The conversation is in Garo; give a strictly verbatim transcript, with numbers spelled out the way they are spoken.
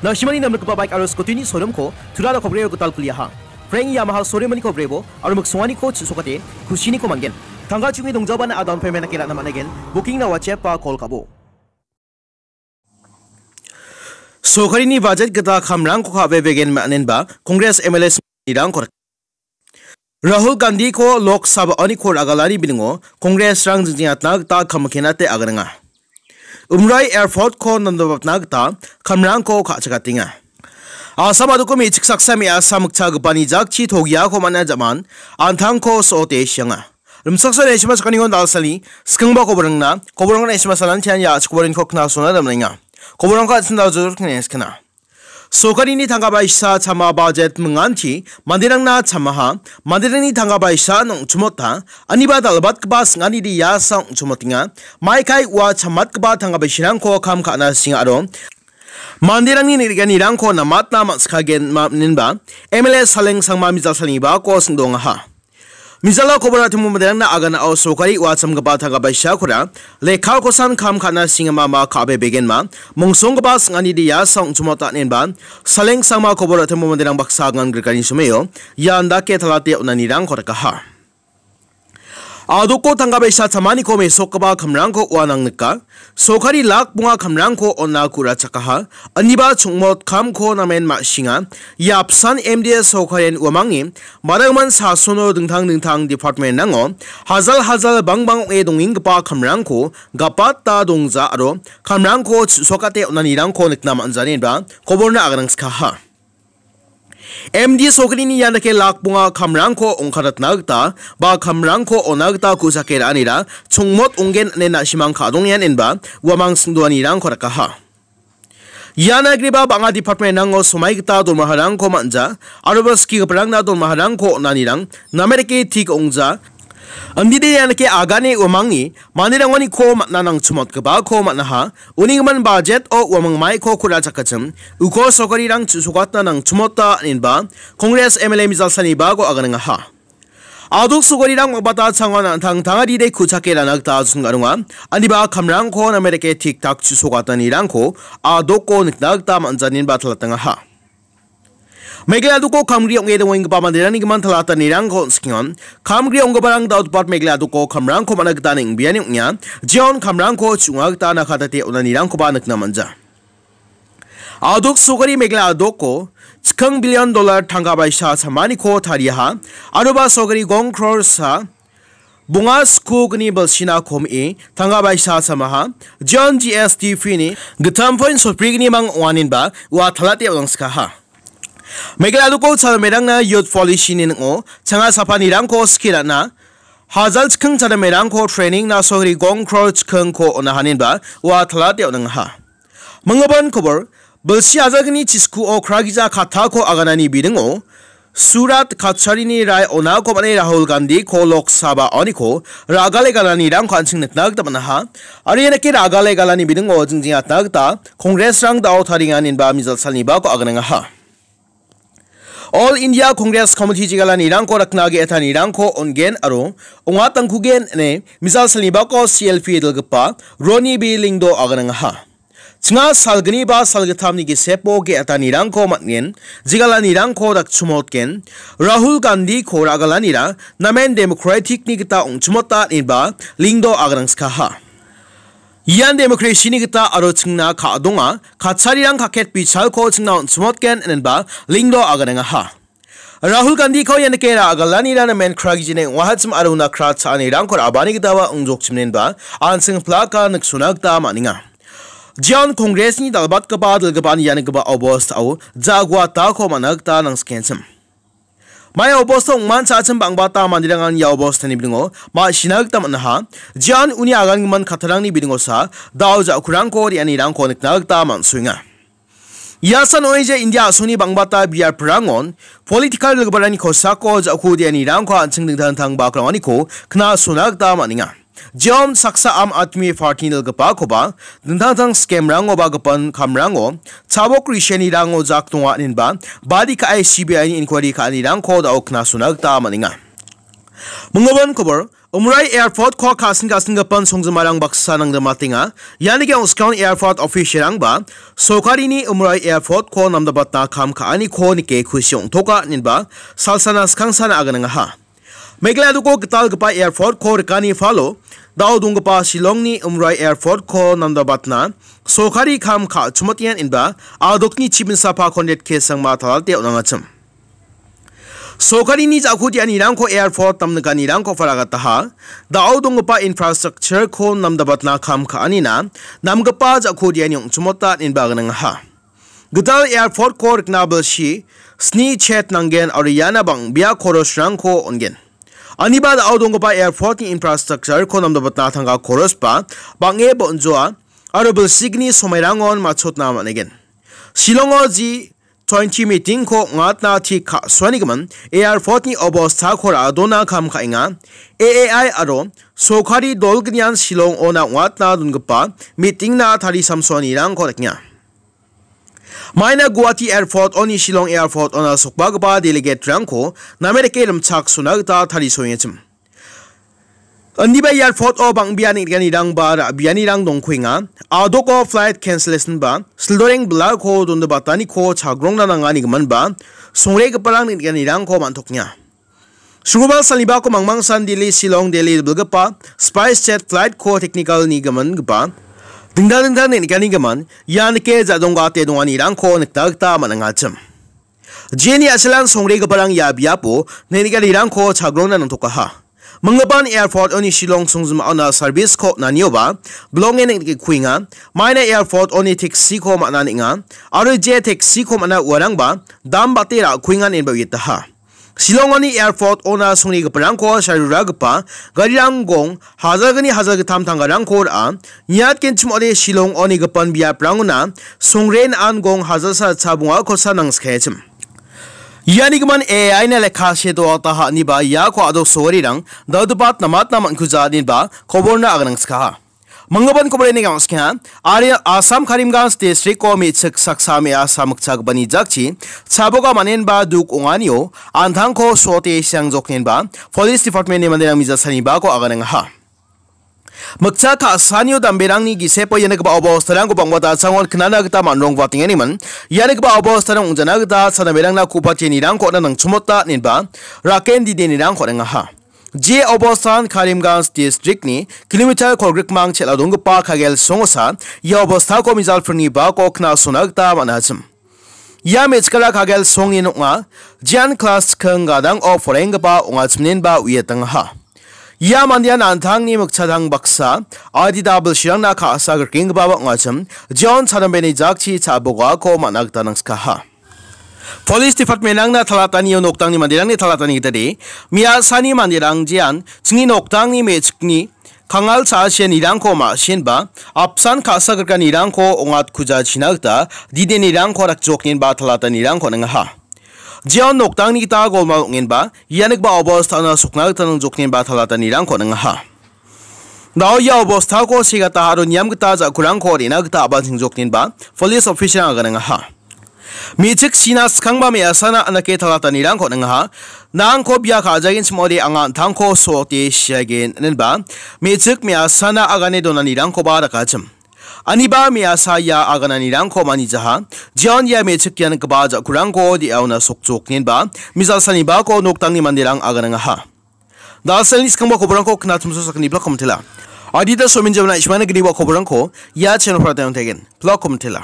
Na·simani namrikgipa baik aro scooty-ni showroom-ko Tura Rokhobrio gital kuliaha. Frank Yamaha showroom-niko brebo aro miksonganiko chu·sokate kusiniko man·gen. Tangka chu·e dongjabana a-down payment-nake ra·na man·aigen. Booking-na WhatsApp-a call ka·bo. Sorkarini bajet gita kamrangko ka·bebegen man·enba Congress M L A-rangko Rahul Gandhiko Lok Sabha-oniko ra·galani bilingo Congress-rang jingjingatna gita kam kenate aganenga. Umroi Airport-ko namdapatna gita kamrangko ka·chakatenga. Assam a·doko me·chik saksa me·asa mikchagipani jakchi togiako man·a jaman an·tangko so·ote sianga. Rimchaksoa neshima sakanigon dalsani skingba koborangna koborangna neshima salantian ya·chik koboringko knasona damrenga. Koborangko an·ching daljor kneskna. Sorkarini tangka baisa chama bajet minganti manderangna chamaha, manderangni tangka baisa ong·chimota, aniba dal·batgipa sing·anide iasa ong·chimotenga, maikai ua chamatgipa tangka baisirangko kam ka·na singa aro manderangni neng·nikanirangko namatna man·sikagenma-, inenba M L A Saleng Sangma Mijal salnibako sing·dongaha. Mijalo kobor atimbo manderangna aganao sorkari ua chamgipa tangka baisakora lekha kosan kam ka·na singama ma ka·bebegenma mongsonggipa sing·anide iasa ong·chimota inenba Saleng Sangma kobor atimbo manderang baksa agan grikani someo ian dake talate on·anirangko rikaha. A·doko tangka baisa chamaniko mesokgipa kamrangko uanang nika. Sorkari lak bonga kamrangko on·na ku·rachakaha. Aniba chongmot kamko namen ma·singa. Ia apsan M D A sorkarian uamangni madangman sasono dingtang dingtang department-rango hajal hajal bangbang ong·e dongenggipa kamrangko gapata dongja aro kamrangko chu·sokate on·anirangko nikna man·jani inba koborna aganangskaha. M D sorkarini ian dake lak bonga kamrangko ong·katatna gita ba kamrangko on·na gita ku·sake ra·anira chongmot ong·gen ine na·simang ka·dongenga inba uamang sing·doanirangko rikaha. Ian agreba bang·a department-rango somai gita donmaharangko man·ja aro ba skigiparangna donmaharangko on·anirang name dake tik ong·ja. Andide ian dake agane uamangni manderangoniko man·na nangchimotgipako man·aha. Uni gimin bajet-o uamang maiko ku·rachakachim uko sorkarirang chu·sokatna nangchimota inenba Congress M L A Mijal salnibako aganengaha. A·dok sorkarirang mabata changon an·tang tangadide ku·chake ra·na gita ajun ga·ronga. Aniba kamrangko name dake tik tak chu·sokatnanirangko a·doko nikna gita man·janinba talatangaha. Meghalaya a·doko kamgri ong·e dongenggipa manderangni gimin talatanirangko on·sikengon. Kamgri ong·giparang da·o dipart Meghalaya a·doko kamrangko man·a gita neng·biani ong·enga. Jeon kamrangko chu·nga gita nakatate on·anirangkoba nikna man·ja. A·dok sorkari Meghalaya a·doko chikking billion dollar tangka baisa chamaniko tariaha. Aroba sorkari gong crore sa bonga skogni bilsina kom·e tangka baisa chamaha. Jeon G S T fee-ni gittam point sotbrigni mang ong·aninba ua talate on·angskaha. Meghalaya a·doko chadamberangna youth policy-ni ning·o changa sapanirangko skie ra·na hajal chikking chadamerangko training-na sorkari gong crore chikkingko on·ahaninba ua talate on·angaha. Minggipan kobor, bilsi ajalgni chiskuo kragija kattako aganani bidingo Surat Kacharini rai onako man·e Rahul Gandhi-ko Lok Sabha-oniko ra·gale galanirangko an·ching nikna gita man·aha. Aro ia dake ra·gale galani bidingo jingjingatna gita Congress-rang da·o tarienganinba Mijal salnibako aganengaha. All India Congress Committee jegalanirangko rikna ge·etanirangko on·gen aro ong·atangkugen ine Mijal salnibako C L P dilgipa Roni B Lyngdoh aganengaha. Chinga salgni ba salgittamni gisepo ge·etanirangko man·gen, jegalanirangko dakchimotgen, Rahul Gandhi-ko ra·galanira namen democratic-ni gita ong·chimota ineba Lyngdoh aganengskaha. Ian democracy-ni gita aro chingna ka·donga, kacharirang kaket bichalko chingna on·chimotgen inenba Lyngdoh aganengaha. Rahul Gandhi-ko ian dake ra·galanira namen kragijine ong·ahachim aro una kra cha·anirangko ra·bani gitaba ong·jokchimnenba an·ching plaka niksona gita man·enga. Jeon Congress-ni dal·batgipa dilgipan ianigipa obostao ja·guatako man·a gita nangsikenchim. Mai obosta ong·manchachim bang·bata manderangan ia obostani bidingo ma·sina gita man·aha. Jeon uni agangimin kattarangni bidingosa da·o ja·kurangko re·anirangko nikna gita man·soenga. Ia san oeje India a·songni bang·bata biaprangon political dilgiparangni kosako ja·ku re·anirangko an·ching dingtang dingtang bakrangoniko knasona gita man·enga. Jeon saksa Aam Aadmi Party-ni dilgipakoba dingtang dingtang scam-rango ba gipin kamrango chabok risenirango jak donga inenba badi ka·e C B I-ni inquiry ka·anirangko da·o knasona gita man·enga. Minggipan kobor, Umrai Airport-ko ka·sin ka·singipan songjimarang baksa nangdamatenga. Ianike Oskon Airport official-rangba sorkarini Umrai Airport-ko namdabatna kam ka·aniko nike kusi ong·toka inenba salsana skangsana aganangaha. Meghalaya doko gitalgipa airport-ko rikani falo, dao donggipa Shillongni Umrai Airport-ko namdabatna sorkari kam ka·chimotengan inba adokni chibin sapa Conrad K Sangma talate on·angachim. Sorkarini ja·kodianirangko airport namnikanirangko paragataha, dao donggipa infrastructure-ko namdabatna kam ka·anina namgipa ja·kodiani ong·chimota inba gnangaha. Gital airport-ko rikna bilsi sni chet nanggen aro iana bang·bea korosrangko on·gen. Aniba dao donggipa airport-ni infrastructure-ko namdabatna tangka korosba bang·e bon·joa aro bilsigni somairangon matchotna man·egen. Shillongo G twenty meeting-ko ong·atna tik ka·suanigimin airport-ni obostako ra·dona kam ka·enga. A A I aro sorkari dolgnian Shillong-ona ong·atna dongipa meeting-na tarisamsoanirangko dakenga. Maina Guwahati Airport-oni Shillong Airport-ona sokbagipa delegate-rangko name dake rimchaksona gita tarisoengachim. Indiba airport-o bang·bea neng·nikanirangba ra·bianirang dongkuenga. Adoko flight cancellation-ba sildoreng bilako dondebataniko chagrongna nanganigiminba songregiparang neng·nikanirangko man·toknga. Sugubal salibako mangmangsan Delhi, Shillong, Delhi bilgipa SpiceJet flight-ko technical-ni gimingipa dingdang dingdang neng·nikanigimin ianike ja·donggate donganirangko nikna gita man·angachim. Jeni a·selan songregiparang ia biapo neng·nikanirangko chagrongna nangtokaha. Minggipan airport-oni Shillong songjimaona service-ko nanioba bilonge neng·nikkuenga. Maina airport-oni taxi-ko man·a neng·a aro je taxi-ko man·a uarangba dam bate ra·kuengan inba uiataha. Shillong-oni airport-ona songregiparangko saruragipa garirang gong hajalgni hajalgittam tangkarangko ra·a. Niatgenchim ong·ode Shillong-oni gipin biaprangona songre na·an gong hajalsa cha bongakosa nangskachim. Ianigimin A I-na lekka see doataha iniba iako adok sogarirang dal·gipa namatna man·kuja inenba koborna aganangskaha. Manggipan koborni gangskha, ari Assam Karimganj district-o me·chik saksa me·asa mikchagipani jakchi chaboga manenba duk ong·anio an·tangko sote siangjoknenba Police Department-ni manderang mijasani bako aganengaha. Mikcha ka·sanio damberangni gisepo ianigipa obostarangko bang·bata changon knana gita man·rongbatenganiman, ianigipa obostarang ong·jana gita chanaberangna ku·patianirangko on·a nangchimota inenba raken didenirangko on·engaha. Je obostan Karimganj district-ni kilometer kolgrikmang chel·a donggipa Kagel songosa ia obostako mijalpringni bako knasona gita man·achim. Ia me·chikara Kagel songni nokna jean class chikking gadang-o porenggipa ong·achimnenba uiatangaha. Ia mandean an·tangni mikchadang baksa adita bilsirangna ka·sa grikenggipaba ong·achim, John Chadambeni jakchi cha·bogako man·a gita nangskaha. Police Department-rangna talatanio noktangni manderangni talatani gitade, me·asani manderang jean chingni noktangni me·chikni kangal cha·asianirangko ma·senba, apsan ka·sa grikanirangko ong·atkujachina gita didenirangko dakjoknenba talatanirangko on·engaha. Jeon noktangni gita golmal ong·enba, ianigipa obostana sokna gita nangjoknenba talatanirangko on·engaha. Dao ia obostako segata aro niam gita ja·kurangko re·na gita a·bal chingjoknenba police officer-rang aganengaha. Me·chik sina skangba me·asana anake talatanirangko on·engaha. Nangko bia ka·jagenchim ong·ode anga an·tangko sote siagen inenba me·chik me·asana agane donanirangkoba dakachim. Aniba me·asa ia agananirangko manijaha. Jeon ia me·chik ianigipa ja·kurangko de·aona sokjoknenba mijalsanibako noktangni manderang aganengaha. Da·alni skangba koborangko knatmso sakgni blog komentela. Adita somin jemna ismana gniba koborangko ia channel-o prateng tegen. Blog komentela.